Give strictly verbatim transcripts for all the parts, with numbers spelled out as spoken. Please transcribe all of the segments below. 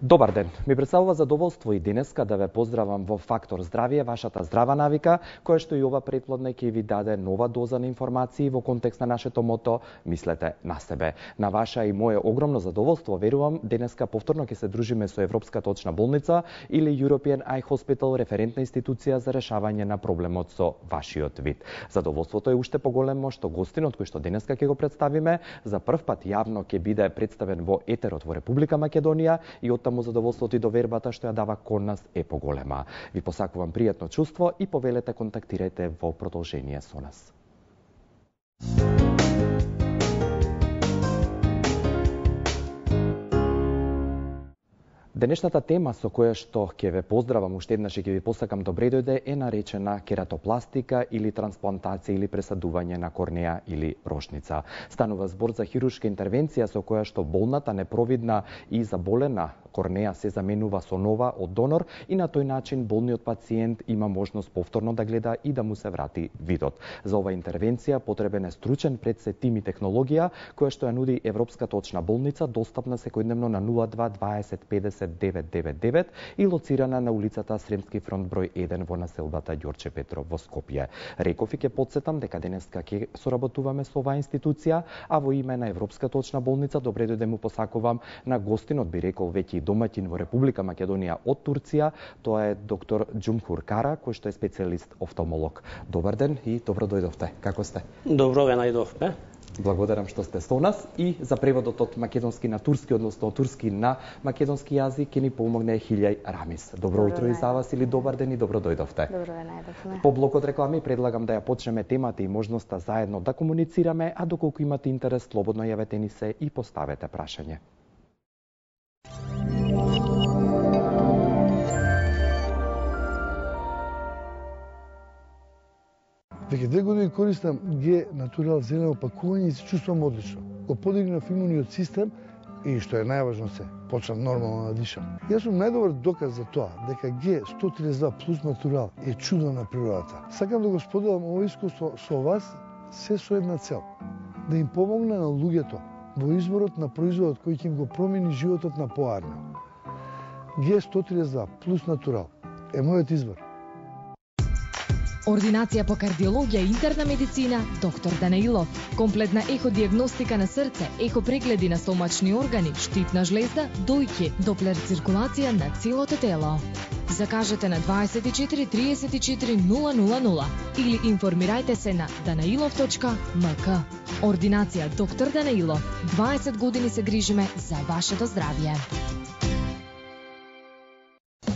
Добар ден, ми представува задоволство и денеска да ве поздравам во Фактор Здравје, вашата здрава навика, која што и ова претплодна ќе ви даде нова доза на информации во контекст на нашето мото "Мислете на себе". На ваша и мое огромно задоволство, верувам, денеска повторно ќе се дружиме со Европската очна болница или European Eye Hospital, референтна институција за решавање на проблемот со вашиот вид. Задоволството е уште поголемо што гостинот кој што денеска ќе го представиме за прв пат јавно ќе биде представен во етерот во Република Македонија и од таму задоволството и довербата што ја дава кон нас е поголема. Ви посакувам пријатно чувство и повелете контактирајте во продолжение со нас. Денешната тема со која што ќе ве поздравам уште еднаш и ќе ви посакам добре дојде е наречена кератопластика или трансплантација или пресадување на корнеја или рошница. Станува збор за хируршка интервенција со која што болната, непровидна и заболена корнеја се заменува со нова од донор и на тој начин болниот пациент има можност повторно да гледа и да му се врати видот. За оваа интервенција потребен е стручен пред се тим и технологија која што ја нуди Европската очна болница, достапна секојдневно на нула два дваесет педесет девет девет девет и лоцирана на улицата Сремски фронт број еден во населбата Ѓорче Петров во Скопје. Реков и ќе потсетам дека денеска ќе соработуваме со оваа институција, а во име на Европската очна болница добре дојде му посакувам на гостинот, би рекол веќе домаќин во Република Македонија од Турција, тоа е доктор Џумхур Кара, кој што е специјалист офталмолог. Добар ден и добро дојдовте. Како сте? Добро ве најдовме. Благодарам што сте со нас и за преводот од македонски на турски, односно од турски на македонски јазик ќе ни помогне Хилјај Рамис. Добро, добро утро и за вас или добар ден и добро дојдовте. Добро ве најдовме. По блокот реклами предлагам да ја почнеме темата и можноста заедно да комуницираме, а доколку имате интерес, слободно јавете ни се и поставете прашање. Веќе две години користам Г Натурал зелено пакување и се чувствувам одлично. Го подигнав имуниот систем и што е најважно се, почнав нормално да дишам. Јас сум најдобар доказ за тоа дека Г сто триесет и два плюс Натурал е чудо на природата. Сакам да го споделам ова искуство со вас се со една цел: да им помогне на луѓето во изборот на производот кој ќе им го промени животот на поарно. Г сто триесет и два плюс Натурал е мојот избор. Ординација по кардиологија и интерна медицина доктор Данаилов. Комплетна еходиагностика на срце, ехопрегледи на стомачни органи, штитна жлезда, дојќе, доплер циркулација на целото тело. Закажете на дваесет и четири триесет и четири нула нула нула или информирајте се на данаилов точка ем ка. Ординација доктор Данаилов. дваесет години се грижиме за вашето здравје.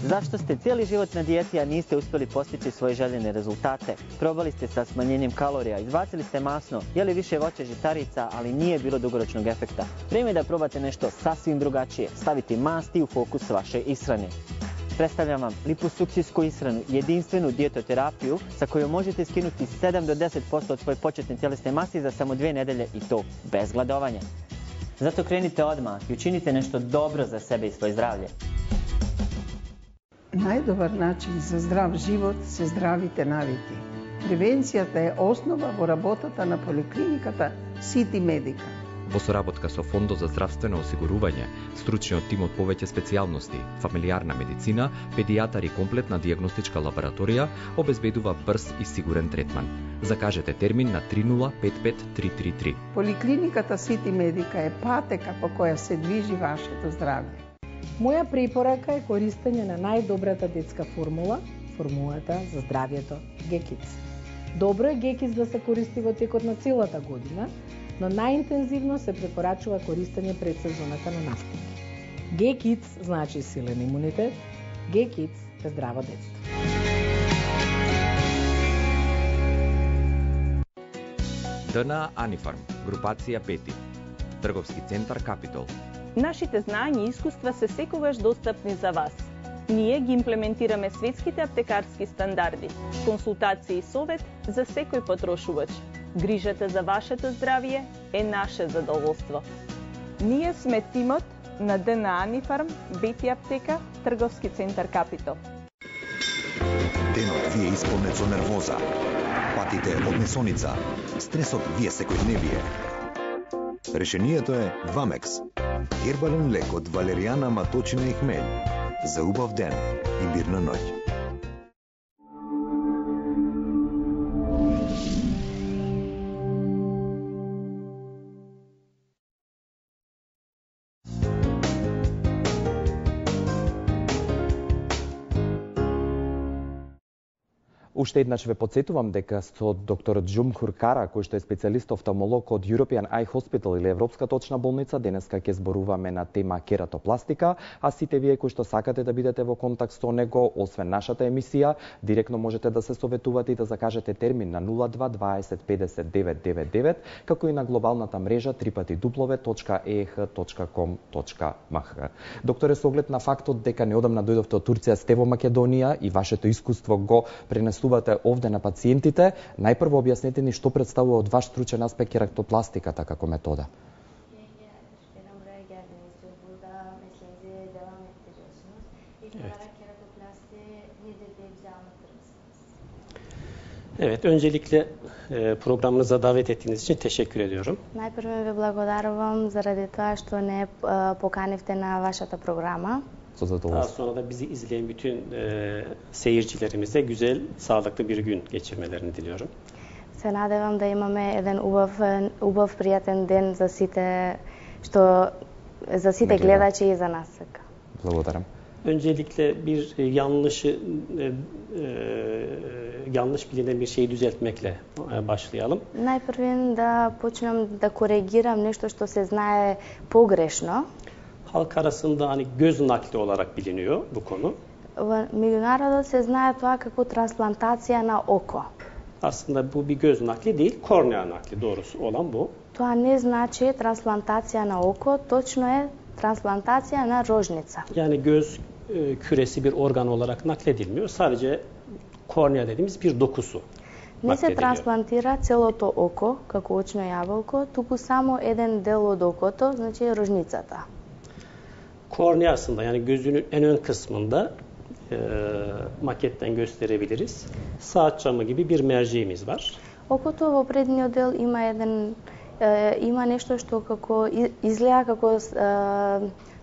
Zašto ste cijeli život na dijeti, a niste uspjeli postići svoje željene rezultate? Probali ste sa smanjenjem kalorija, izbacili ste masno, jeli više voća, žitarica, ali nije bilo dugoročnog efekta. Vrijeme je da probate nešto sasvim drugačije, staviti masti u fokus vaše ishrane. Predstavljam vam liposuksijsku ishranu, jedinstvenu dijetoterapiju sa kojom možete skinuti sedam do deset posto od svoje početne tjelesne mase za samo dvije nedelje i to bez gladovanja. Zato krenite odmah i učinite nešto dobro za sebe i svoje zdravlje. Најдобар начин за здрав живот се здравите навики. Превенцијата е основа во работата на поликлиниката Сити Медика. Во соработка со Фондот за здравствено осигурување, стручниот тим од повеќе специјалности, фамилиарна медицина, педијатар и комплетна дијагностичка лабораторија обезбедува брз и сигурен третман. Закажете термин на три нула пет пет три три три. Поликлиниката Сити Медика е патека по која се движи вашето здравје. Моја препорака е користење на најдобрата детска формула, формулата за здравјето Г Kids. Добро е Г Kids да се користи во текот на целата година, но најинтензивно се препорачува користење пред сезоната на настапи. Г Kids значи силен имунитет, Г Kids е здраво детство. Д Н А Анифарм, групација пети, трговски центар Капитол. Нашите знања и искуства се секогаш достапни за вас. Ние ги имплементираме светските аптекарски стандарди, консултација и совет за секој потрошувач. Грижата за вашето здравје е наше задоволство. Ние сме тимот на Д Н А Анифарм, Бети аптека, трговски центар Капитол. Денот ви е исполнет со нервоза, патите од несоница, стресот ви е секојдневие. Решението е Вамекс. Гербален лек од валеријана, маточина и хмелј. За убав ден и мирна ноќ. Уште еднаш ве подсетувам дека со доктор Джумхур Кара, кој што е специјалист офталмолог од European Eye Hospital или Европската очна болница, денеска ќе зборуваме на тема кератопластика, а сите вие кои што сакате да бидете во контакт со него, освен нашата емисија, директно можете да се советувате и да закажете термин на нула два дваесет педесет девет девет девет, како и на глобалната мрежа три пати дуплове точка и ей ейч точка ком точка ем ейч. Докторе, со оглед на фактот дека неодамна дојдовте од Турција, сте во Македонија и вашето искуство го пренесувате овде на пациентите, најпрво објаснете ни што представува од ваш стручен аспект кератопластиката како метода. Evet, öncelikle e, programınıza davet ettiğiniz için teşekkür ediyorum. Најпрво ви благодарувам заради тоа што не е, поканивте на вашата програма. Daha sonra da bizi izleyen bütün e, seyircilerimize güzel, sağlıklı bir gün geçirmelerini diliyorum. Се надевам да имаме еден убав, убав пријатен ден за сите што за сите гледачи и за нас. Благодарам. Öncelikle bir e, yanlışı e, e, yanlış bilinen bir şeyi düzeltmekle e, başlayalım. Најпрвен да почнем да коригирам нешто што се знае погрешно. Halk arasında hani göz nakli olarak biliniyor bu konu. Во меѓународот се знае тоа како трансплантација на око. Aslında bu bir göz nakli değil, kornea nakli doğrusu olan bu. Тоа не значи трансплантација на око, точно е трансплантација на рожница. Yani göz e, küresi bir organ olarak nakledilmiyor. Sadece kornea dediğimiz bir dokusu. Не се трансплантира целото око како очно јаболко, туку само еден дел од окото, значи рожницата. Korneasında yani gözünün en ön kısmında e, maketten gösterebiliriz. Saat camı gibi bir merceğimiz var. Окото во предниот дел има еден е, има нешто што како изгледа како е,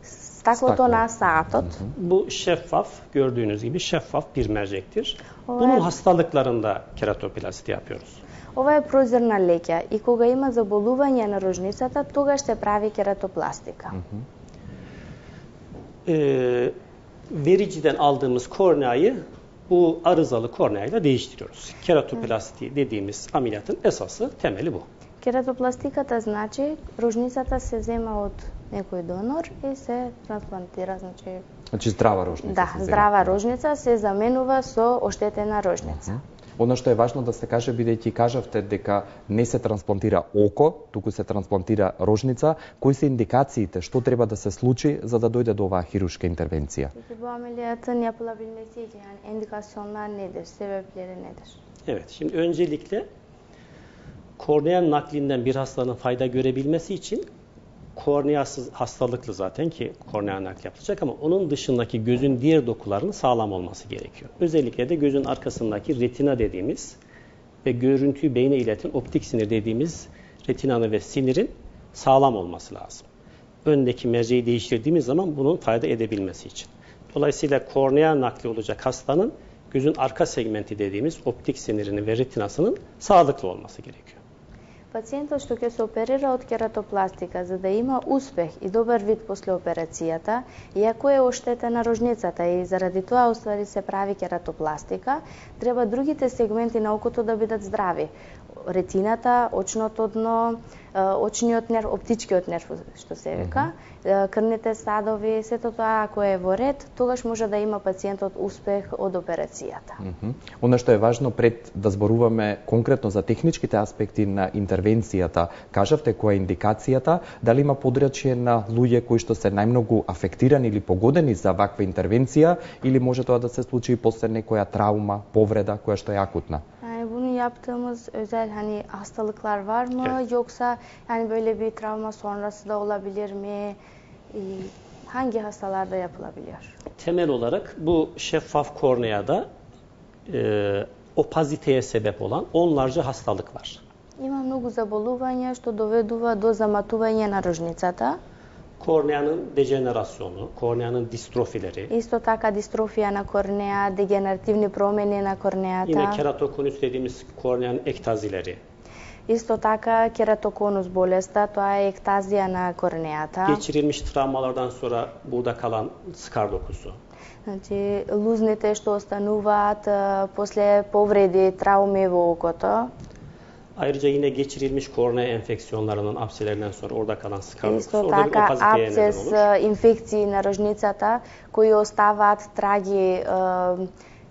стаклото на саатот. Bu şeffaf, gördüğünüz gibi şeffaf bir mercektir. Bunun hastalıklarında keratoplasti yapıyoruz. Ова е прозорна леќа и кога има заболување на рожницата, тогаш се прави кератопластика. E, vericiden aldığımız korneayı bu arızalı korneayla değiştiriyoruz. Keratoplasti dediğimiz ameliyatın esası, temeli bu. Кератопластиката значи рожницата се зема од некој донор и се трансплантира, значи Значи здрава рожница. Да, здрава рожница се заменува со оштетена рожница. Оно што е важно да се каже, бидејќи кажавте дека не се трансплантира око, туку се трансплантира рожница, кои се индикациите, што треба да се случи за да дојде до оваа хируршка интервенција? Bu ameliyatın yapılabilmesi için yani indikasyonlar nedir? Sebepleri nedir? Evet, şimdi öncelikle kornea naklinden bir hastanın fayda görebilmesi için korneasız hastalıklı zaten ki kornea nakli yapılacak ama onun dışındaki gözün diğer dokularının sağlam olması gerekiyor. Özellikle de gözün arkasındaki retina dediğimiz ve görüntüyü beyne ileten optik sinir dediğimiz retinanın ve sinirin sağlam olması lazım. Öndeki merceği değiştirdiğimiz zaman bunun fayda edebilmesi için. Dolayısıyla kornea nakli olacak hastanın gözün arka segmenti dediğimiz optik sinirinin ve retinasının sağlıklı olması gerekiyor. Пациентот што ќе се оперира од кератопластика, за да има успех и добар вид после операцијата, иако е оштетена рожницата и заради тоа уствари се прави кератопластика, треба другите сегменти на окото да бидат здрави. Ретината, очното дно, очниот нерв, оптичкиот нерв што се вика, крвните садови, сето тоа ако е во ред, тогаш може да има пациентот успех од операцијата. Оно што е важно пред да зборуваме конкретно за техничките аспекти на интервенцијата, кажавте која е индикацијата, дали има подрачје на луѓе кои што се најмногу афектирани или погодени за ваква интервенција или може тоа да се случи после некоја травма, повреда која што е акутна? Yani bunu yaptığımız özel hani hastalıklar var mı evet. Yoksa yani böyle bir travma sonrası da olabilir mi? Ee, hangi hastalarda yapılabiliyor? Temel olarak bu şeffaf korneada e, opaziteye sebep olan onlarca hastalık var. Има многу заболувања што доведува до заматување на рожницата. Korneanın dejenerasyonu, korneanın distrofileri. Исто така дистрофија на корнеа, дегенеративни промени на корнеата. Yine keratokonus dediğimiz korneanın ektazileri. Исто така кератоконус болеста, тоа е ектазија на корнеата. Geçirilmiş travmalardan sonra burada kalan skar dokusu. Значи, лузните што остануваат а, после повреди, трауми во окото. Ayrıca yine geçirilmiş kornea enfeksiyonlarının apselerinden sonra orada kalan skar dokusu. Исто Orada bir така opaziteye neden апцес, olur. а, инфекции на рожницата кои оставаат траги а,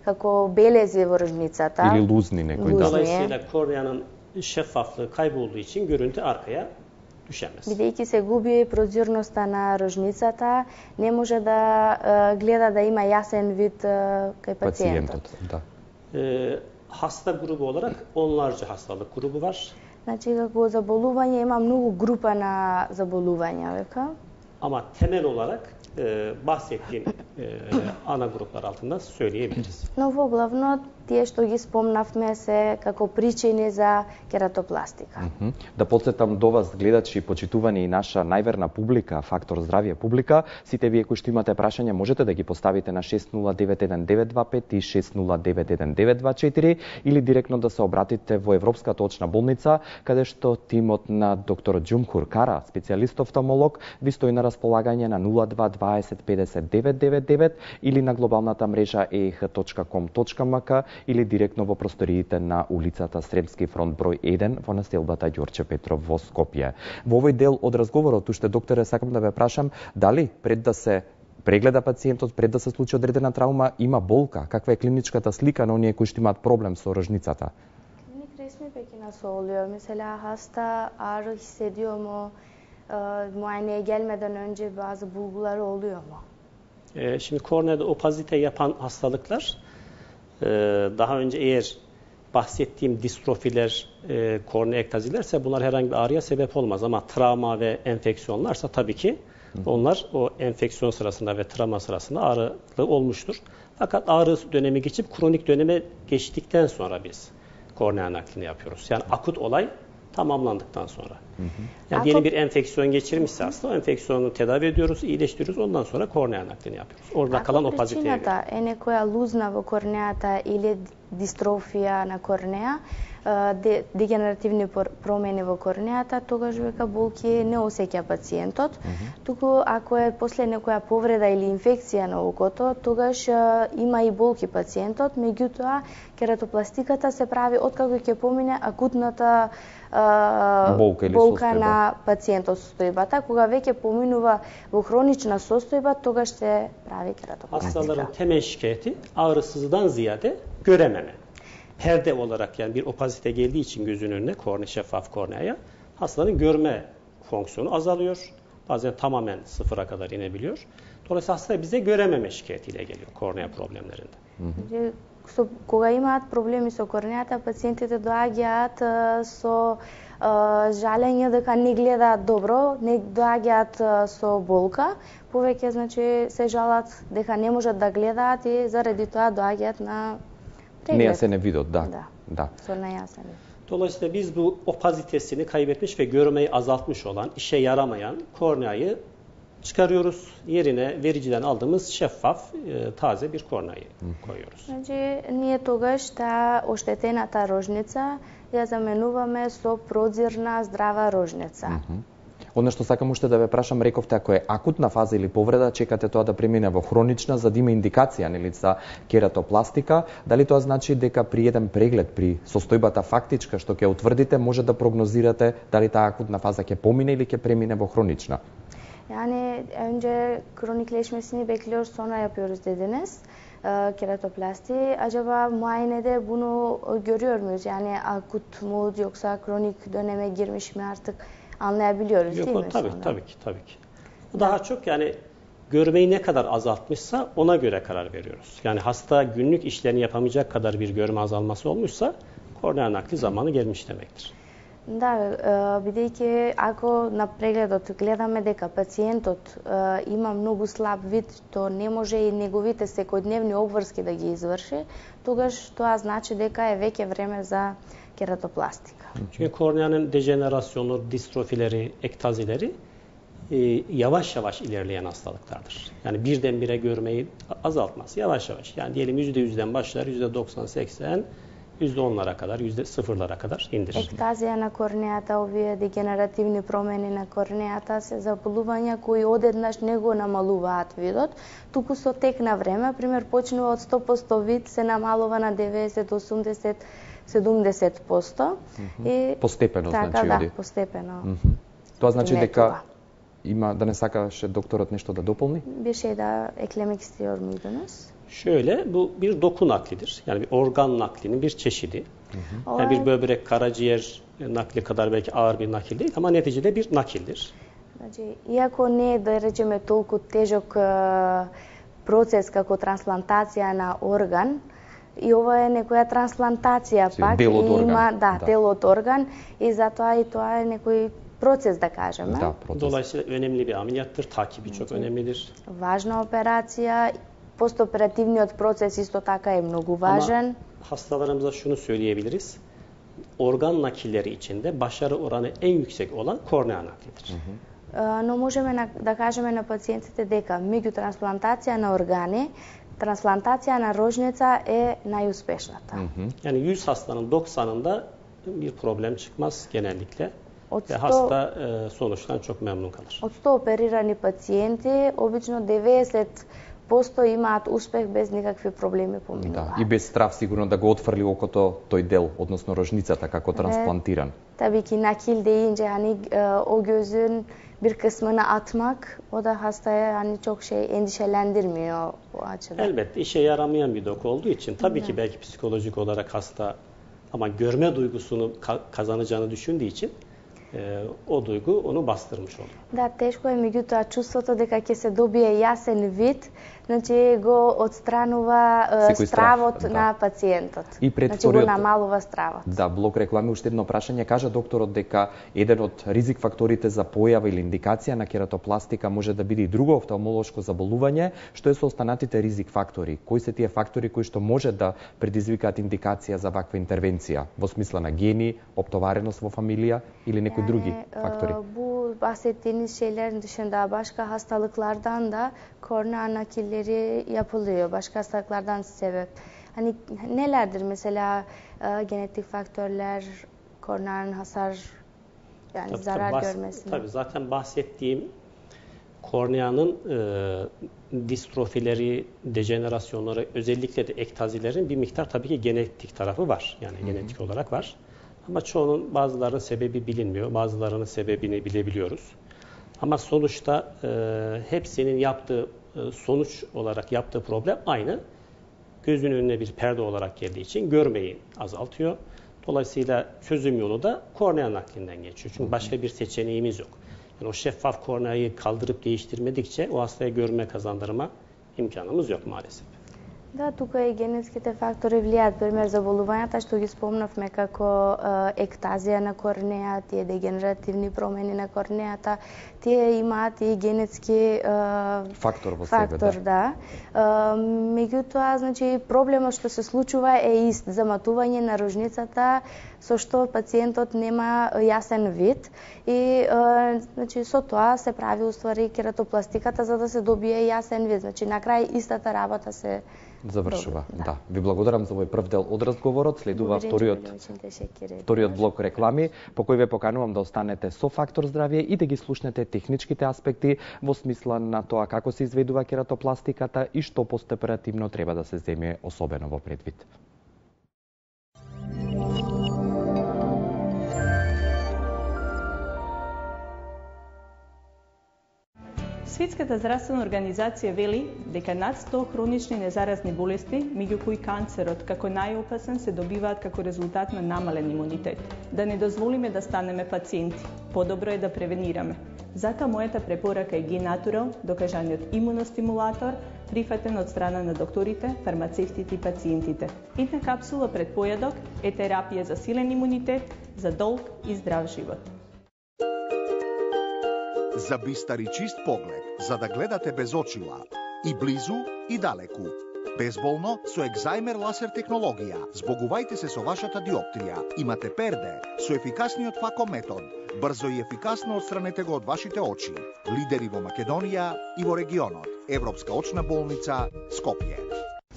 како белези во рожницата. Или лузни некои, да. Dolayısıyla korneanın şeffaflığı kaybolduğu için görüntü arkaya düşemez. Бидејќи се губи прозирноста на рожницата, не може да а, гледа да има јасен вид а, кај пациентот. Пациентот, да. Ee, hasta grubu olarak onlarca hastalık grubu var. Значи, како заболување има многу група на заболувања, века. Ama temel olarak e, bahsettiğim e, ana gruplar altında söyleyebiliriz. Но во главно тие што ги спомнавме се како причини за кератопластика. Mm -hmm. Да подсетам до вас, гледачи и почитувани и наша најверна публика, Фактор здравје публика, сите вие кои што имате прашања можете да ги поставите на шест нула девет еден девет два пет и шест нула девет еден девет два четири или директно да се обратите во Европската очна болница, каде што тимот на доктор Џумхур Кара, специјалист офталмолог, ви стои на располагање на нула два дваесет педесет девет девет девет или на глобалната мрежа e e h точка com точка m k или директно во просториите на улицата Сремски фронт број еден во населбата Ѓорче Петров во Скопје. Во овој дел од разговорот, уште докторе, сакам да ве прашам, дали пред да се прегледа пациентот, пред да се случи одредена траума, има болка? Каква е клиничката слика на оние кои што имаат проблем со рожницата? Клиник resmi peki nasıl oluyor? Mesela hasta ağrı hissediyor mu? E, muayeneye gelmeden önce bazı bulguları oluyor mu? E, şimdi korneada opazite yapan hastalıklar e, daha önce eğer bahsettiğim distrofiler, e, kornea ektazilerse bunlar herhangi bir ağrıya sebep olmaz ama travma ve enfeksiyonlarsa tabii ki onlar o enfeksiyon sırasında ve travma sırasında ağrılı olmuştur. Fakat ağrı dönemi geçip kronik döneme geçtikten sonra biz kornea naklini yapıyoruz. Yani akut olay tamamlandıktan sonra. Hı hı. Yani diyelim bir enfeksiyon geçirmişse hasta, o enfeksiyonu tedavi ediyoruz, iyileştiriyoruz. Ondan sonra kornea naklini yapıyoruz. Orada kalan opaziteye göre. Ако причината е некоја лузна во корнеата или дистрофија на корнеа, дегенеративни промени во корнеата, тогаш века болки не осеќа пациентот. Mm -hmm. Туку ако е после некоја повреда или инфекција на окото, тогаш има и болки пациентот, меѓутоа кератопластиката се прави откако ќе помине акутната Uh, болка, болка на пациентот состојбата. Кога веќе поминува во хронична состојба, тогаш се прави кератопластика. Hastaların temel şikayeti ağrısızdan ziyade görememe. Perde olarak yani bir opazite geldiği için gözünün önüne, kornea, şeffaf korneaya, hastaların görme fonksiyonu azalıyor. Bazen tamamen sıfıra kadar inebiliyor. Dolayısıyla hasta bize görememe şikayetiyle geliyor kornea problemlerinde. Hı hı. So, кога имаат проблеми со корнеата, пациентите доаѓаат со uh, жалење дека не гледаат добро, не доаѓаат uh, со болка, повеќе значи се жалат дека не можат да гледаат и заради тоа доаѓаат на преглед. Нејасен видот, да. Да. Da. Со нејасен. Dolayısıyla biz bu opazitesini kaybetmiş ve görmeyi azaltmış olan, işe yaramayan korneayı çıkarıyoruz. Yerine vericiden aldığımız şeffaf, e, taze bir korneayı koyuyoruz. Значи, ние тогаш таа оштетената рожница ја заменуваме со прозирна здрава рожница. Mm -hmm. Оно што сакам уште да ве прашам, рековте ако е акутна фаза или повреда, чекате тоа да премине во хронична за да има индикација нели за кератопластика, дали тоа значи дека при еден преглед при состојбата фактичка што ќе утврдите може да прогнозирате дали таа акутна фаза ќе помине или ќе премине во хронична? Yani önce kronikleşmesini bekliyoruz, sonra yapıyoruz dediniz e, keratoplasti. Acaba muayenede bunu görüyor muyuz? Yani akut mu yoksa kronik döneme girmiş mi artık anlayabiliyoruz Yok, değil mi? Tabii, sonra? tabii ki, tabii ki. Daha evet. çok yani görmeyi ne kadar azaltmışsa ona göre karar veriyoruz. Yani hasta günlük işlerini yapamayacak kadar bir görme azalması olmuşsa kornea nakli zamanı gelmiş demektir. Да, бидејќи ако на прегледот гледаме дека пациентот има многу слаб вид, то не може и неговите секојдневни обврски да ги изврши, тогаш тоа значи дека е веќе време за кератопластика. Çünkü korneanın dejenerasyonu, distrofileri, ektazileri e, yavaş yavaş ilerleyen hastalıklardır. Yani birdenbire görmeyi azaltmaz. Yavaş yavaş. Yani diyelim yüzde yüzden başlar, yüzde doksan seksen, yüzde onlara kadar, yüzde sıfırlara kadar indirir. Ектазија на корнејата, овие дегенеративни промени на корнејата се заболувања кои одеднаш не го намалуваат видот, туку со тек на време, пример почнува од сто проценти вид, се намалува на деветдесет, осумдесет, седумдесет проценти. Mm-hmm. И постепено, така, значи, да, оди. постепено. Mm-hmm. Тоа значи дека това. Има, да не сакаше докторот нешто да дополни? Bir şey daha eklemek istiyor muydunuz? Şöyle, bu bir doku naklidir. Yani bir organ naklinin bir çeşidi. Hı hı. Yani bir böbrek, karaciğer nakli kadar belki ağır bir nakil değil ama neticede bir nakildir. Значи, иако не е, да речеме, толку тежок процес како трансплантација на орган, и ова е некоја трансплантација Си, пак, дел од и орган. има, да, Да. дел од орган, и затоа и тоа е некој процес, да кажеме. Да, процес. Dolayısıyla önemli bir ameliyattır. Takibi çok önemlidir. Важна операција, постоперативниот процес исто така е многу важен. Ama hastalarımıza şunu söyleyebiliriz. Organ nakilleri içinde başarı oranı en yüksek olan kornea naklidir. Е, Но можеме на, да кажеме на пациентите дека меѓу трансплантација на органи, трансплантација на рожница е најуспешната. Мгм. Yani yüz hastanın doksanında bir problem çıkmaz genellikle. Од Ve сто hasta e, sonuçtan çok memnun kalır. Од сто оперирани пациенти, обично деветдесет проценти имаат успех без никакви проблеми Да, поминуваат. и без страв сигурно да го отфрли окото тој дел, односно рожницата како трансплантиран. Tabii ki nakil deyince hani e, o gözün bir kısmını atmak, o da hastaya hani çok şey endişelendirmiyor bu açıdan. Elbette işe yaramayan bir doku olduğu için tabii ki belki psikolojik olarak hasta ama görme duygusunu ka- kazanacağını düşündüğü için e, o duygu onu bastırmış olur. Да, тешко е, меѓутоа чувството дека ќе се добие јасен вид, значи го отстранува е, Секој страв, стравот да. на пациентот. И пред Значи го вториот- намалува стравот. Да, блок реклами, уште едно прашање. Кажа докторот дека еден од ризик факторите за појава или индикација на кератопластика може да биде и друго офталмолошко заболување. Што е со останатите ризик фактори? Кои се тие фактори кои што може да предизвикаат индикација за ваква интервенција? Во смисла на гени, оптовареност во фамилија или некои други Yani, фактори? e, bu bahsettiğiniz şeylerin dışında başka hastalıklardan da kornea nakilleri yapılıyor. Başka hastalıklardan sebep. Hani nelerdir mesela e, genetik faktörler, korneanın hasar yani Tabii, zarar tabii, bahs- görmesine. Tabii zaten bahsettiğim korneanın e, distrofileri, dejenerasyonları, özellikle de ektazilerin bir miktar tabii ki genetik tarafı var. Yani Hı hı. genetik olarak var. Ama çoğunun, bazılarının sebebi bilinmiyor, bazılarının sebebini bilebiliyoruz. Ama sonuçta e, hepsinin yaptığı e, sonuç olarak yaptığı problem aynı. Gözün önüne bir perde olarak geldiği için görmeyi azaltıyor. Dolayısıyla çözüm yolu da kornea naklinden geçiyor. Çünkü başka bir seçeneğimiz yok. Yani o şeffaf korneayı kaldırıp değiştirmedikçe o hastaya görme kazandırma imkanımız yok maalesef. Да, тука и генетските фактори влијаат, пример заболувањата што ги спомнавме како е, ектазија на корнеја, тие дегенеративни промени на корнејата, тие имаат и генетски е, Фактор во фактор, себе, да. Е, меѓутоа, значи проблемот што се случува е ист, заматување на рожницата со што пациентот нема јасен вид и е, значи со тоа се прави уствари кератопластиката за да се добие јасен вид. Значи на крај истата работа се Завршува. Добро, Да. Ви благодарам за овој прв дел од разговорот. Следува вториот вториот блок реклами, по кој ве поканувам да останете со Фактор здравје и да ги слушнете техничките аспекти во смисла на тоа како се изведува кератопластиката и што постоперативно треба да се земе особено во предвид. Светската здравствена организација вели дека над сто хронични незаразни болести, меѓу кои канцерот како најопасен, се добиваат како резултат на намален имунитет. Да не дозволиме да станеме пациенти. Подобро е да превенираме. Затоа мојата препорака е Генатурал, докажаниот имуностимулатор, прифатен од страна на докторите, фармацевтите и пациентите. Една капсула пред појадок е терапија за силен имунитет, за долг и здрав живот. За бистар и чист поглед, за да гледате без очила, и близу и далеку. Безболно со екзаймер лазер технологија. Збогувајте се со вашата диоптрија. Имате перде со ефикасниот фако метод. Брзо и ефикасно отстранете го од вашите очи. Лидери во Македонија и во регионот. Европска очна болница Скопје.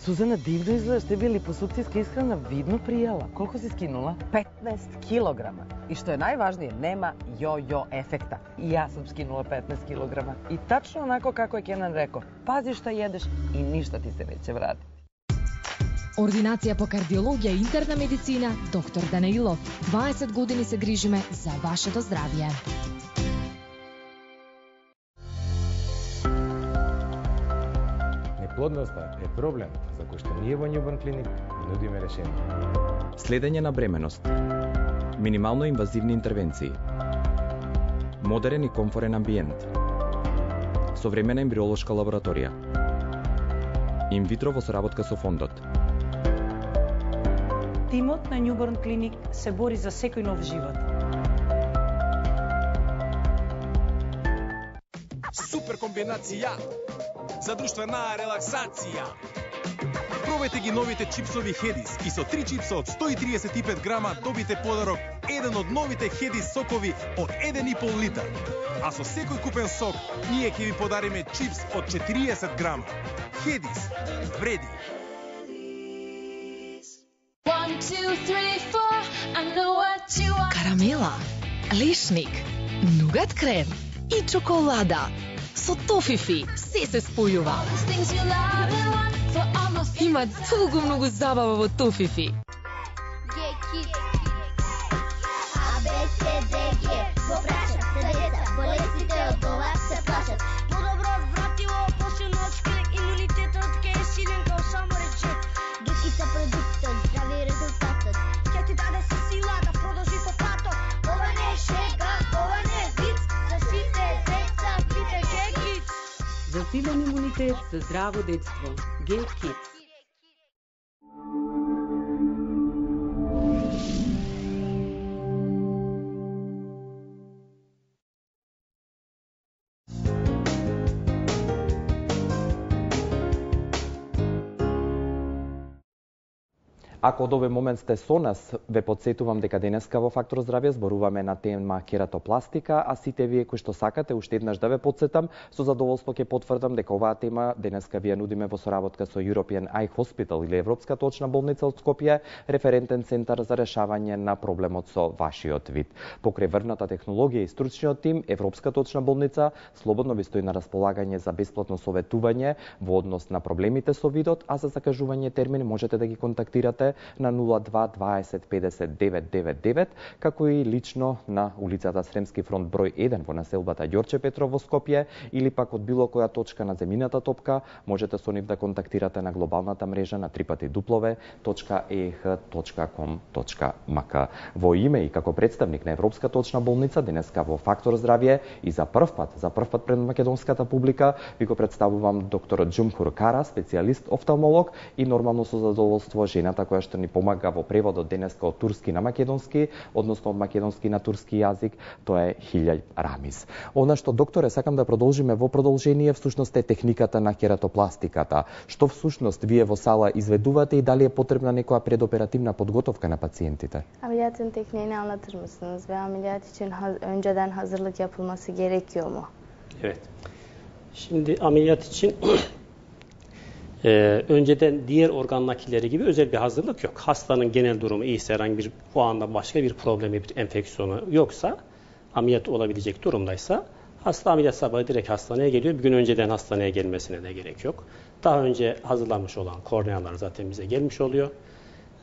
Сузана, дивно изгледаш, тебе липосукцијска исхрана видно пријала. Колку си скинула? петнаесет килограма. И што е најважнije, нема јо-јо ефекта. И јас сум скинула петнаесет килограма. И тачно онако како е Кенан реко, пази што једеш и ништо ти се неќе врати. Ординација по кардиологија и интерна медицина, доктор Данаилов. дваесет години се грижиме за вашето здравје. Неплодноста е проблем за кој што ние во Newborn Clinic нудиме решение. Следење на бременост. Минимално инвазивни интервенции. Модерен и комфорен амбиент. Современа ембриолошка лабораторија. Инвитро во соработка со фондот. Тимот на Newborn Clinic се бори за секој нов живот. Супер комбинација за друштвена релаксација. Пробајте ги новите чипсови Хедис и со три чипса од сто и триесет и пет грама добите подарок еден од новите Хедис сокови од еден и пол литар. А со секој купен сок, ние ќе ви подариме чипс од четириесет грама. Хедис, вреди. Карамела, лишник, нугат крем и чоколада. Со тофифи се се спојува. Има толку многу забава во тофифи. За силен имунитет, за здраво детство. Get Kids. Ако од овој момент сте со нас, ве подсетувам дека денеска во Фактор здравје зборуваме на тема кератопластика, а сите вие кои што сакате уште еднаш да ве подсетам, со задоволство ќе потврдам дека оваа тема денеска ви ја нудиме во соработка со European Eye Hospital или Европската очна болница од Скопје, референтен центар за решавање на проблемот со вашиот вид. Покрај врната технологија и стручниот тим, Европската очна болница слободно ви стои на располагање за бесплатно советување во однос на проблемите со видот, а за закажување термин можете да ги контактирате на нула два дваесет педесет девет девет девет, како и лично на улицата Сремски фронт број еден во населбата Ѓорче Петров во Скопје, или пак од било која точка на земјината топка можете со нив да контактирате на глобалната мрежа на три пати дуплове точка е х точка ком точка м к. Во име и како представник на Европската очна болница денеска во Фактор здравје и за прв пат, за прв пат пред македонската публика ви го представувам докторот Джумхур Кара, специјалист офталмолог и нормално со задоволство жената која што ни помага во преводот денеска од турски на македонски, односно од македонски на турски јазик, тоа е Хилјај Рамис. Она што, докторе, сакам да продолжиме во продолжение, всушност е техниката на кератопластиката. Што всушност вие во сала изведувате и дали е потребна некоја предоперативна подготовка на пациентите? Ameliyatın tekniğini anlatır mısınız ve ameliyat için ha- önceden hazırlık yapılması gerekiyor mu? Evet. Şimdi ameliyat için Ee, önceden diğer organ nakilleri gibi özel bir hazırlık yok. Hastanın genel durumu iyiyse, herhangi bir o anda başka bir problemi, bir enfeksiyonu yoksa, ameliyat olabilecek durumdaysa, hasta ameliyat sabahı direkt hastaneye geliyor. Bir gün önceden hastaneye gelmesine de gerek yok. Daha önce hazırlanmış olan kornealar zaten bize gelmiş oluyor.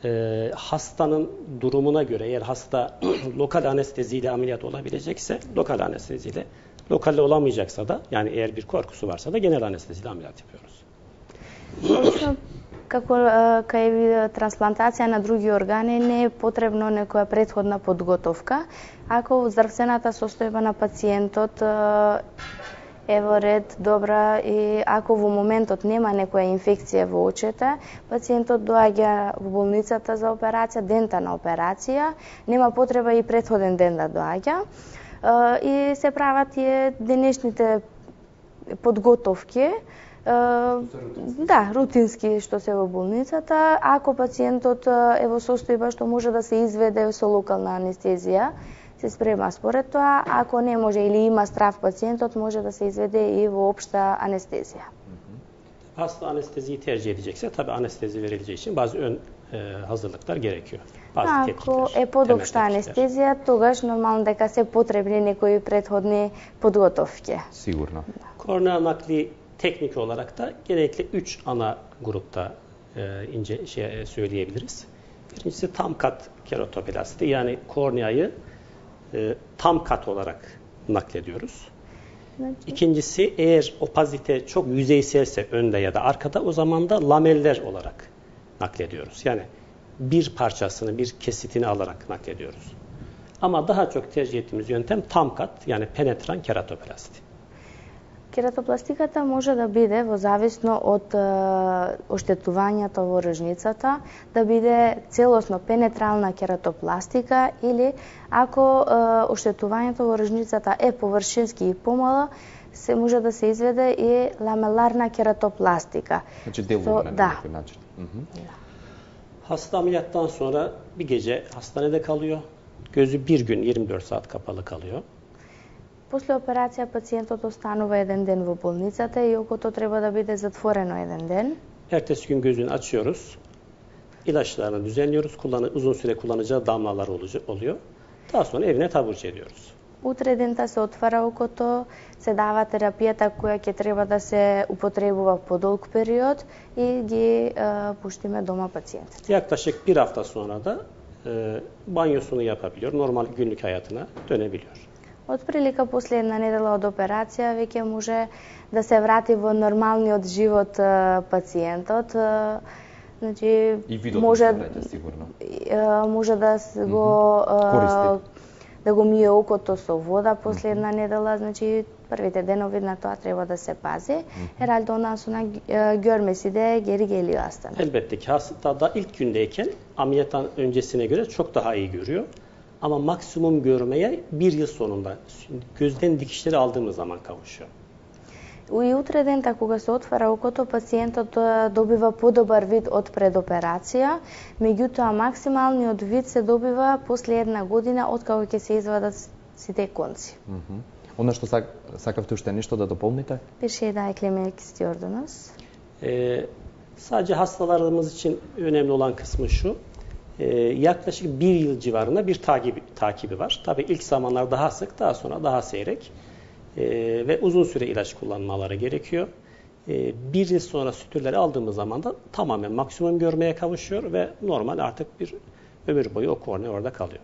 Ee, hastanın durumuna göre, eğer hasta lokal anesteziyle ameliyat olabilecekse, lokal anesteziyle, lokalde olamayacaksa da, yani eğer bir korkusu varsa da genel anesteziyle ameliyat yapıyoruz. Обично, како кај трансплантација на други органи не е потребно некоја претходна подготовка. Ако здравствената состојба на пациентот е во ред, добра, и ако во моментот нема некоја инфекција во очите, пациентот доаѓа во болницата за операција, дента на операција, нема потреба и претходен ден да доаѓа. И се прават тие денешните подготовки Да, рутински што се во болницата. Ако пациентот е во состојба што може да се изведе со локална анестезија, се спрема според тоа. Ако не може или има страв пациентот, може да се изведе и во општа анестезија. Hasta anesteziyi tercih edecekse tabii anestezi verileceği için bazı ön e, hazırlıklar gerekiyor. Bazı Ако е подопшта анестезија, тогаш нормално дека се потребни некои предходни подготовки. Sigurno. Kornea nakli teknik olarak da genellikle üç ana grupta e, ince şey söyleyebiliriz. Birincisi tam kat keratoplasti, yani korneayı e, tam kat olarak naklediyoruz. İkincisi, eğer opazite çok yüzeyselse önde ya da arkada, o zaman da lameller olarak naklediyoruz. Yani bir parçasını, bir kesitini alarak naklediyoruz. Ama daha çok tercih ettiğimiz yöntem tam kat, yani penetran keratoplasti. Кератопластиката може да биде во зависно од оштетувањето во рожницата, да биде целосно пенетрална кератопластика или ако оштетувањето во рожницата е површински и помало, се може да се изведе и ламеларна кератопластика. Значи деловна на некој начин. Hasta ameliyattan sonra bir gece hastanede kalıyor. Gözü bir gün yirmi dört saat kapalı kalıyor. После операција пациентот останува еден ден во болницата и окото треба да биде затворено еден ден. Ertesi gün gözünü açıyoruz. İlaçlarını düzenliyoruz. Kullanı, uzun süre kullanacağı damlalar oluyor. Daha sonra evine taburcu ediyoruz. Утре дента се отвара окото, се дава терапијата која ќе треба да се употребува по долг период и ги е, пуштиме дома пациентите. Yaklaşık bir hafta sonra da e, banyosunu yapabiliyor. Normal günlük hayatına dönebiliyor. Отприлика после една недела од операција веќе може да се врати во нормалниот живот пациентот. Значи може сигурно. Може да го користи да го мие окото со вода после една недела, значи првите денови на тоа треба да se pazi. Herhalde ondan sonra görmesi de geri geliyor hastanın. Elbette ki hasta da ilk gündeyken ameliyattan öncesine göre çok daha iyi görüyor. Ama maksimum görmeye bir yıl sonunda gözden dikişleri aldığımız zaman kavuşuyor. И утре дента кога се отвара окото, пациентот добива подобар вид од предоперација, меѓутоа максималниот вид се добива после една година од кога ќе се извадат сите конци. Mm -hmm. Она што сак, сакавте уште нешто да дополните? Bir şey daha eklemek istiyordunuz. Ee, sadece hastalarımız için önemli olan kısmı şu. Ee, yaklaşık bir yıl civarında bir takibi, takibi var. Tabii ilk zamanlar daha sık, daha sonra daha seyrek. Ee, ve uzun süre ilaç kullanmaları gerekiyor. Ee, bir yıl sonra sütürleri aldığımız zaman da tamamen maksimum görmeye kavuşuyor ve normal artık bir ömür boyu o kornea orada kalıyor.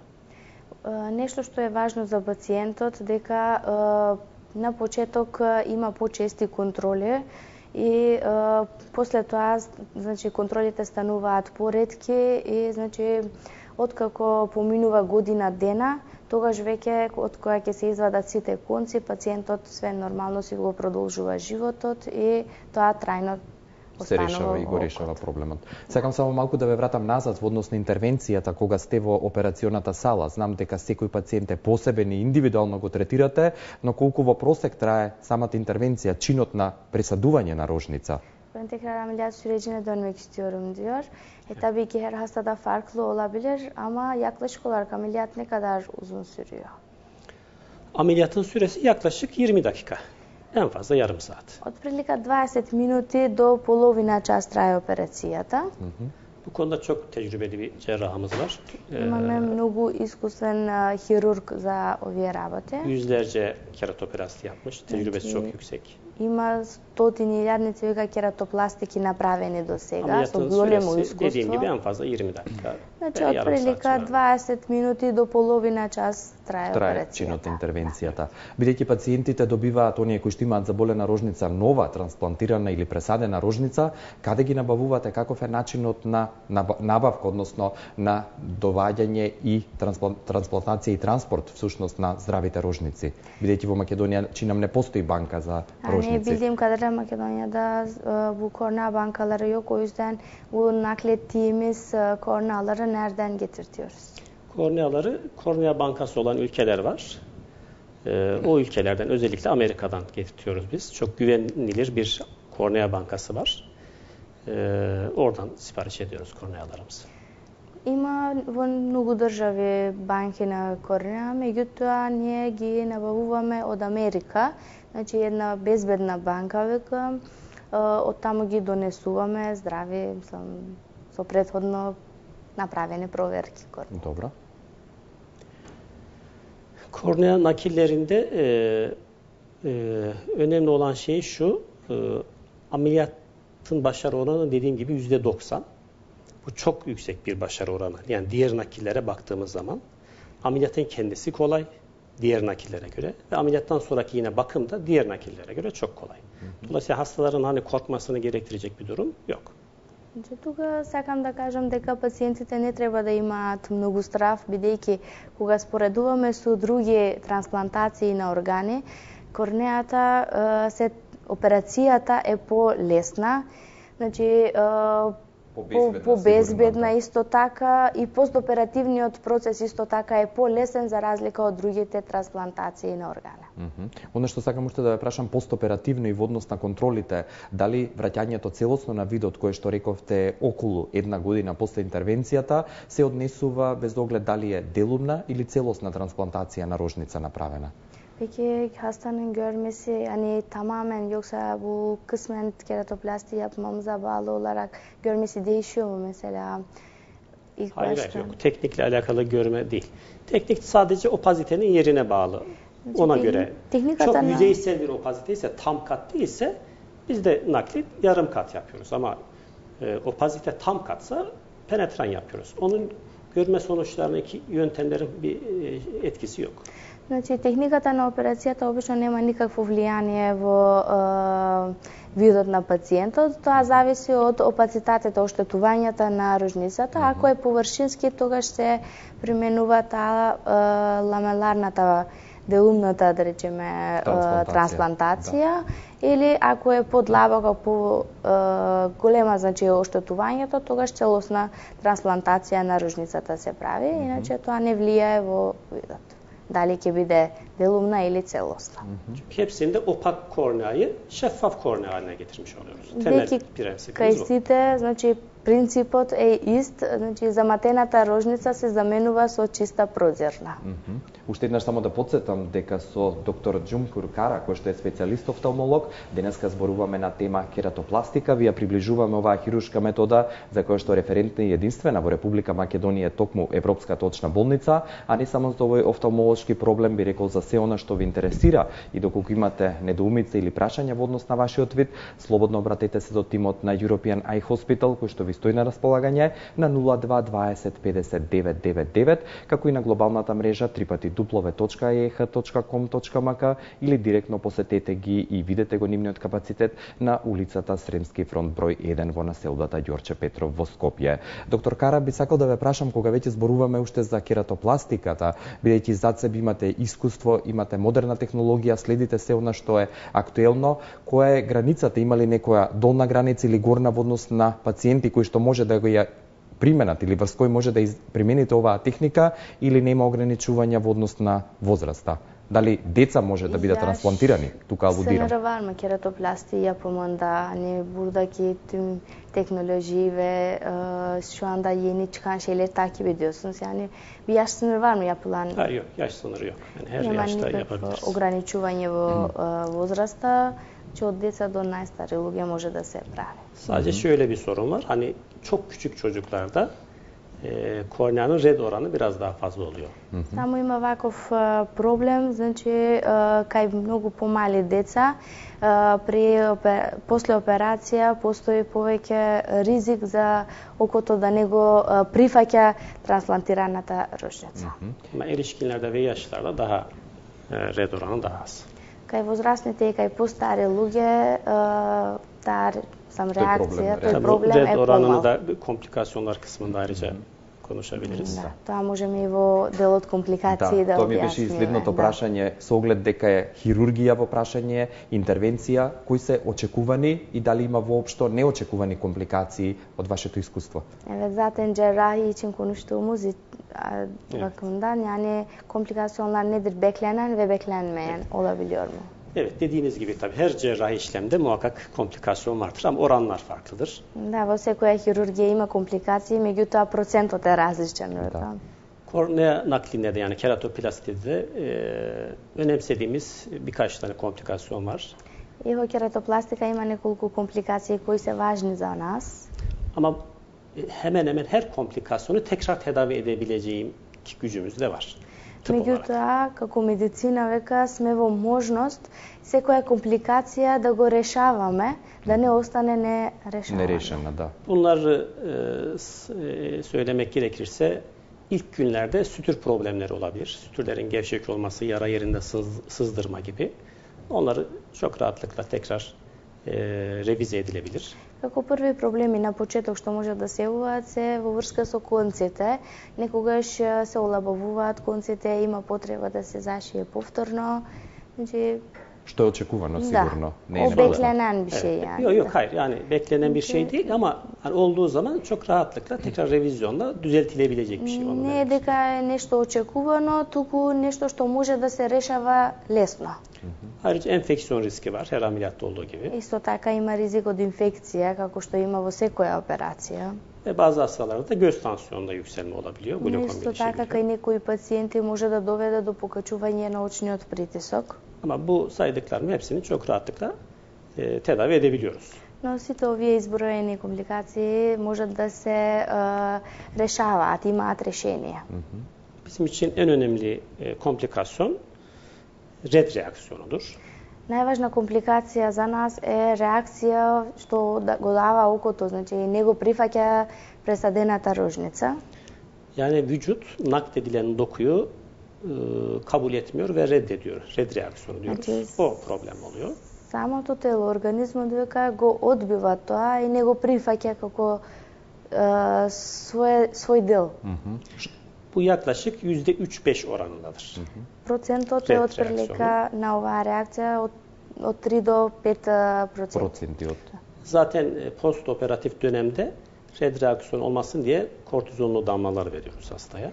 Нешто што е важно за пациентот дека на почеток има почести контроли и после тоа значи контролите стануваат поретки и значи откако поминува година дена, тогаш веќе од која ќе се извадат сите конци, пациентот све нормално си го продолжува животот и тоа трајно се решава и го решава проблемот. Сакам само малку да ве вратам назад во однос на интервенцијата кога сте во операционата сала. Знам дека секој пациент е посебен и индивидуално го третирате, но колку во просек трае самата интервенција, чинот на пресадување на rojnica? Ben tekrar ameliyat sürecine dönmek istiyorum diyor. E tabii ki her hastada farklı olabilir ama yaklaşık olarak ameliyat ne kadar uzun sürüyor? Ameliyatın süresi yaklaşık yirmi dakika. En fazla yarım saat. Otprilike dvadeset minuti do polovina čas traje operacijata. Bu konuda çok tecrübeli bir cerrahımız var. Imаме mnogo iskusen hirurg za ovие работи. Yüzlerce keratoplasti yapmış. Tecrübesi çok yüksek. Има стотини илјадници веќе кератопластики направени до сега со големо искуство. Dediğim gibi en fazla yirmi dakika. Значи отприлика дваесет минути до половина час трае трае чинот интервенцијата. Бидејќи пациентите добиваат оние кои што имаат заболена рожница нова, трансплантирана или пресадена рожница, каде ги набавувате, каков е начинот на набавка, односно на доваѓање и трансплантација и транспорт всушност на здравите рожници? Бидејќи во Македонија чинам не постои банка за rojnici. Hani bildiğim kadarıyla Makedonya'da bu kornea bankaları yok. O yüzden bu naklettiğimiz korneaları nereden getirtiyoruz? Korneaları kornea bankası olan ülkeler var. O ülkelerden, özellikle Amerika'dan getirtiyoruz biz. Çok güvenilir bir Kornea Bankası var. Ee, oradan sipariş ediyoruz kornealarımızı. Има во многу држави банки на корнеа, меѓутоа ние ги набавуваме од Америка. Значи една безбедна банка века, од таму ги донесуваме здрави со, со претходно направени проверки. Добро. Kornea nakillerinde e, e, önemli olan şey şu, e, ameliyatın başarı oranı dediğim gibi yüzde doksan. Bu çok yüksek bir başarı oranı. Yani diğer nakillere baktığımız zaman ameliyatın kendisi kolay diğer nakillere göre ve ameliyattan sonraki yine bakım da diğer nakillere göre çok kolay. Dolayısıyla hastaların hani korkmasını gerektirecek bir durum yok. Тука сакам да кажам дека пациентите не треба да имаат многу страв, бидејќи кога споредуваме со други трансплантации на органи, корнеата се операцијата е полесна, значи по-безбедна исто така и постоперативниот процес исто така е полесен за разлика од другите трансплантации на органи. Mm -hmm. Оно што сакам уште да ве прашам постоперативно и во однос на контролите, дали враќањето целосно на видот кое што рековте околу една година после интервенцијата се однесува без оглед дали е делумна или целосна трансплантација на рожница направена? Peki hastanın görmesi hani tamamen yoksa bu kısmen keratoplasti yapmamıza bağlı olarak görmesi değişiyor mu mesela? İlk hayır, başta... hayır yok. Teknikle alakalı görme değil. Teknik sadece opazitenin yerine bağlı. Ona teknik, göre. Teknik çok adana... yüzeysel bir opazite ise tam kat değilse biz de naklit yarım kat yapıyoruz. Ama e, opazite tam katsa penetran yapıyoruz. Onun görme sonuçlarındaki yöntemlerin bir e, etkisi yok. Значи, техниката на операцијата обично нема никакво влијание во е, видот на пациентот, тоа зависи од опацитетот, оштетувањата на рожницата. Mm-hmm. Ако е површински, тогаш се применува таа е, ламеларната, делумната, да речеме, трансплантација, трансплантација да. Или ако е подлабока, по е, голема, значи, оштетувањето, тогаш целосна трансплантација на рожницата се прави, mm-hmm. иначе тоа не влијае во видот. Dali ќе биде делумна или целосна. Hepsinde opak korneayı şeffaf kornea haline getirmiş oluyoruz. Temel prensipimiz bu. Кај сите, значи принципот е ист, значи заматената рожница се заменува со чиста прозирна. Mm -hmm. Уште еднаш само да подсетам дека со доктор Джумкур Кара, кој што е специјалист офталмолог, денеска зборуваме на тема кератопластика, ви ја приближуваме оваа хируршка метода за која што референтна и единствена во Република Македонија токму Европската очна болница, а не само за овој офталмолошки проблем, би рекол за се она што ви интересира и доколку имате недоумица или прашања во однос на вашиот вид, слободно обратете се до тимот на European Eye Hospital кој што ви стои на располагање на нула два дваесет педесет девет девет девет, како и на глобалната мрежа три пати дупл ю точка и х точка ком точка м к или директно посетете ги и видете го нивниот капацитет на улицата Сремски фронт број еден во населбата Ѓорче Петров во Скопје. Доктор Кара, би сакал да ве прашам, кога веќе зборуваме уште за кератопластиката, бидејќи зад себе имате искуство, имате модерна технологија, следите се она што е актуелно, која е границата, има ли некоја долна граница или горна во однос на пациенти кои што може да го ја применат или врз кој може да примените оваа техника или нема ограничувања во однос на возраста? Дали деца може да бидат трансплантирани? Тука алудирам. Се нараварма кератопласти ја поманда, не бурдаки тим teknoloji şu anda yeni çıkan şeyleri takip ediyorsunuz. Yani bir yaş sınırı var mı yapılan? Hayır yok, yaş sınırı yok. Yani her Nема yaşta yapabiliriz. Ограничување во возраста, че од деца до најстари луѓе може да се прави. Sadece şöyle bir sorun var. Hani çok küçük çocuklarda e, korneanın red oranı biraz daha fazla oluyor. Само има ваков проблем, значи кај многу помали деца при после операција постои повеќе ризик за окото да не го прифаќа трансплантираната рожница. Ama erişkinlerde ve yaşlarda daha red oranı daha az. Кај возрастните и кај постари луѓе таа сам реакција, тој проблем е red oranını da komplikasyonlar kısmında ayrıca konuşabiliriz. Да, тоа можеме и во делот компликации да, да тоа ми беше и следното да. прашање, со оглед дека е хирургија во прашање, интервенција, кои се очекувани и дали има воопшто неочекувани компликации од вашето искуство? Evet, zaten cerrahi için konuştuğumuz bakımdan yani komplikasyonlar nedir? Beklenen ve beklenmeyen olabiliyor mu? Evet, dediğiniz gibi tabii her cerrahi işlemde muhakkak komplikasyon vardır ama oranlar farklıdır. Да, во секоја хирургија има компликации, меѓутоа процентот е различен. Да. Kornea naklinde de yani keratoplaside de e, önemsediğimiz birkaç tane komplikasyon var. И во кератопластика има неколку компликации кои се важни за нас. Ama hemen hemen her komplikasyonu tekrar tedavi edebileceğim gücümüz de var. Меѓутоа, како медицина века сме во можност секоја компликација да го решаваме, да не остане нерешена. Nereşena, da. Bunları e, söylemek gerekirse ilk günlerde sütür problemleri olabilir. Sütürlerin gevşek olması, yara yerinde sız, sızdırma gibi. Onları çok rahatlıkla tekrar e, revize edilebilir. Како први проблеми на почеток што може да се јавуваат се во врска со конците. Некогаш се олабавуваат конците, има потреба да се зашие повторно. Значи, Što je očekuvano sigurno. Da, o beklenen bir şey yani. Yok yok hayır yani beklenen bir şey değil ama hani olduğu zaman çok rahatlıkla tekrar revizyonla düzeltilebilecek bir şey. Не е дека е нешто очекувано, туку нешто што може да се решава лесно. Ayrıca enfeksiyon riski var her ameliyatta olduğu gibi. Исто така има ризик од инфекција, како што има во секоја операција. Ve bazı hastalarda da göz tansiyonunda yükselme olabiliyor. Glukom Исто така кај некои пациенти може да доведе до покачување на очниот притисок. Ama bu saydıklarım hepsini çok rahatlıkla e, tedavi edebiliyoruz. Но сите овие изброени компликации можат да се е, решаваат, имаат решение. Bizim için en önemli e, komplikasyon red reaksiyonudur. Најважна компликација за нас е реакција што да го дава окото, значи не го прифаќа пресадената рожница. Yani vücut nakledilen dokuyu e, kabul etmiyor ve reddediyor. Red reaksiyonu diyoruz. Значи, o problem oluyor. Самото тело, организмот дека го одбива тоа и не го прифаќа како е, свој, свој дел. Bu yaklaşık yüzde üç beş oranındadır. Процентот е отприлика на оваа реакција од, од три до пет проценти. Zaten e, post operatif dönemde red reaksiyon olmasın diye kortizonlu damlalar veriyoruz hastaya.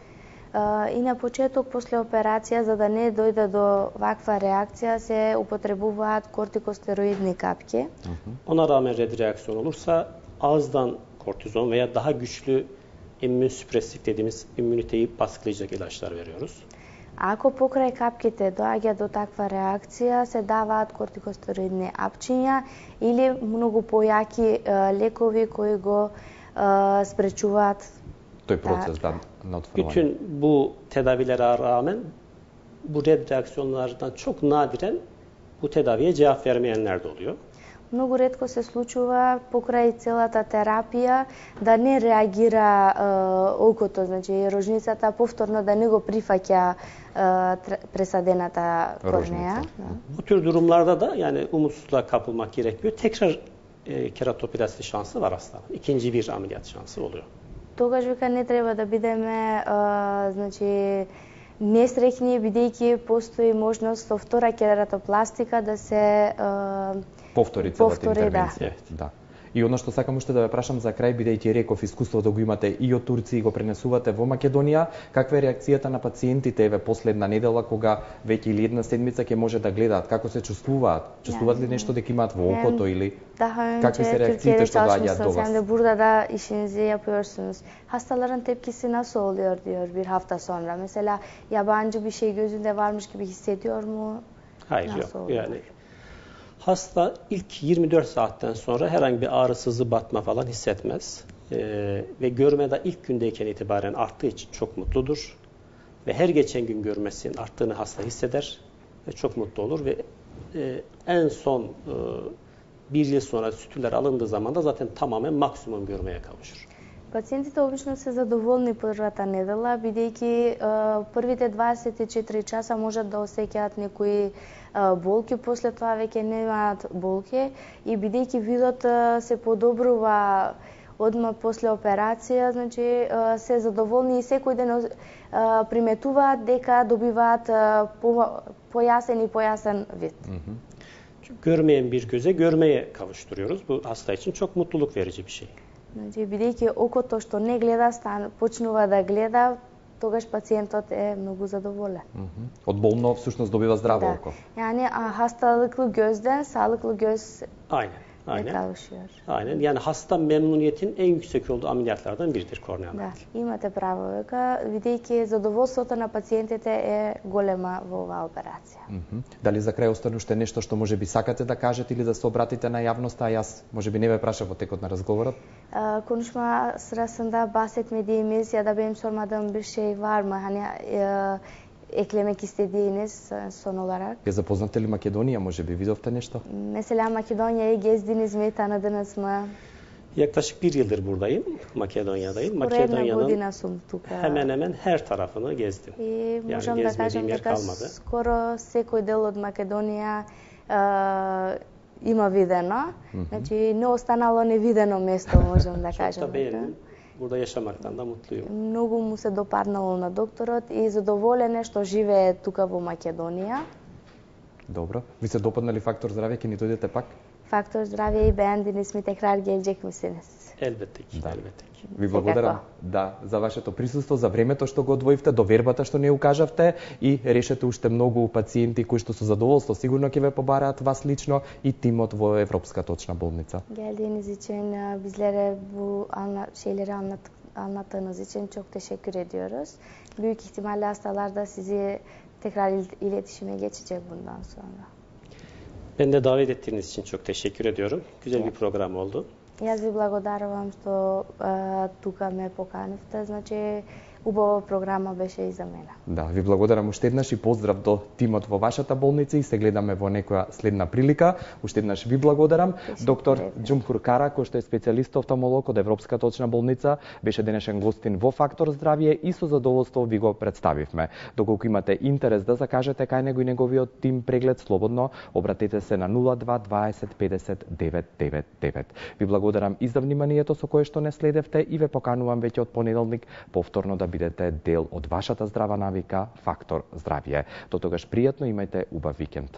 И на почеток после операција, за да не дојде до ваква реакција, се употребуваат кортикостероидни капки. Ona rağmen red reaksiyon olursa ağızdan kortizon veya daha güçlü immünsüpresif dediğimiz immüniteyi baskılayacak ilaçlar veriyoruz. Ако покрај капките доаѓа до таква реакција, се даваат кортикостероидни апчиња или многу појаки лекови кои го спречуваат тој процес да, на отворување. Bütün bu tedavilere rağmen bu red reaksiyonlardan çok nadiren bu tedaviye cevap vermeyenler de oluyor. Многу ретко се случува покрај целата терапија да не реагира е, окото, значи рожницата повторно да не го прифаќа e, пресадената корнеја. Bu tür durumlarda da yani umutsuzluğa kapılmak gerekmiyor. Tekrar e, keratoplasti şansı var hastanın. İkinci bir ameliyat şansı oluyor. Тогаш вика не треба да бидеме е, значи несреќни бидејќи постои можност со втора кератопластика да се е, повтори целата интервенција. Да. да. И оно што сакам уште да ве прашам за крај, бидејќи реков искуството го имате и од Турција и го пренесувате во Македонија, каква е реакцијата на пациентите еве последна недела кога веќе или една седмица ќе може да гледаат, како се чувствуваат? Чувствуваат ли нешто дека имаат во окото или какви се реакциите што доаѓаат до вас? Sen de burada da işinizi yapıyorsunuz. Hastaların tepkisi nasıl oluyor diyor bir hafta sonra. Mesela yabancı bir şey gözünde varmış gibi hissediyor mu? Hayır nasıl yok. Oluyor? Yani hasta ilk yirmi dört saatten sonra herhangi bir ağrı, sızı, batma falan hissetmez. Ee, ve görme de ilk gündeyken itibaren arttığı için çok mutludur. Ve her geçen gün görmesinin arttığını hasta hisseder ve çok mutlu olur. Ve e, en son e, bir yıl sonra sütüler alındığı zaman da zaten tamamen maksimum görmeye kavuşur. Пациентите обично се задоволни првата недела, бидејќи првите дваесет и четири часа можат да осеќаат некои болки, после тоа веќе немаат болки и бидејќи видот се подобрува одма после операција, значи се задоволни и секој ден приметуваат дека добиваат појасен и појасен вид. Görmeyen bir göze görmeye kavuşturuyoruz. Bu hasta için çok mutluluk verici bir şey. Значи, бидејќи окото што не гледа, стан, почнува да гледа, тогаш пациентот е многу задоволен. Од болно всушност добива здраво око. Yani hastalıklı gözden sağlıklı göz Aynen. Aynen. kavuşuyor. Aynen. Yani hasta memnuniyetin en yüksek olduğu ameliyatlardan biridir kornea Да, nakli. имате право дека бидејќи задоволството на пациентите е голема во оваа операција. Дали за крај остане уште нешто што можеби сакате да кажете или да се обратите на јавноста, а јас можеби не ве прашав во текот на разговорот? Konuşma sırasında bahsetmediğimiz ya da benim sormadığım bir şey var mı? Hani e, eklemek istediğiniz son olarak? Ја запознате ли Македонија, можеби видовте нешто? Mesela Makedonya'yı gezdiniz mi, tanıdınız mı? Yaklaşık bir yıldır buradayım, Makedonya'dayım. Скоро една Makedonya'nın година сум тука. hemen hemen her tarafını gezdim. И Yani можам да кажам gezmediğim yer дека kalmadı. скоро секој дел од Македонија е, има видено. Значи не останало невидено место, можам да Çok da кажам. beğendim. Burada yaşamaktan da mutluyum. Многу му се допаднало на докторот и задоволен е што живее тука во Македонија. Добро. Ви се допадна ли фактор здравје, ќе ни дојдете пак? Faktör zdravje i beğendiğiniz mi tekrar gelecek misiniz? Elbette ki, elbette ki. Ви благодарам да за вашето присуство, за времето што го одвоивте, довербата што не укажавте и решете уште многу пациенти кои што со задоволство сигурно ќе ве побараат вас лично и тимот во Европската очна болница. Geldiğiniz için bizlere bu anla şeyleri anlat anlattığınız için çok teşekkür ediyoruz. Büyük ihtimalle hastalar da sizi tekrar il- iletişime geçecek bundan sonra. Ben de davet ettiğiniz için çok teşekkür ediyorum. Güzel bir program oldu. Јас ви благодарувам што е, тука ме поканивте, значи убава програма беше и за мене. Да, ви благодарам уште еднаш и поздрав до тимот во вашата болница и се гледаме во некоја следна прилика. Уште еднаш ви благодарам. Доктор Џумхур Кара, кој што е специјалист офталмолог од Европската очна болница, беше денешен гостин во Фактор здравје и со задоволство ви го представивме. Доколку имате интерес да закажете кај него и неговиот тим преглед, слободно обратете се на нула два дваесет педесет девет девет девет. Ви благодарам и за вниманието со кое што не следевте и ве поканувам веќе од понеделник повторно да бидете дел од вашата здрава навика Фактор здравје. До тогаш пријатно, имајте убав викенд.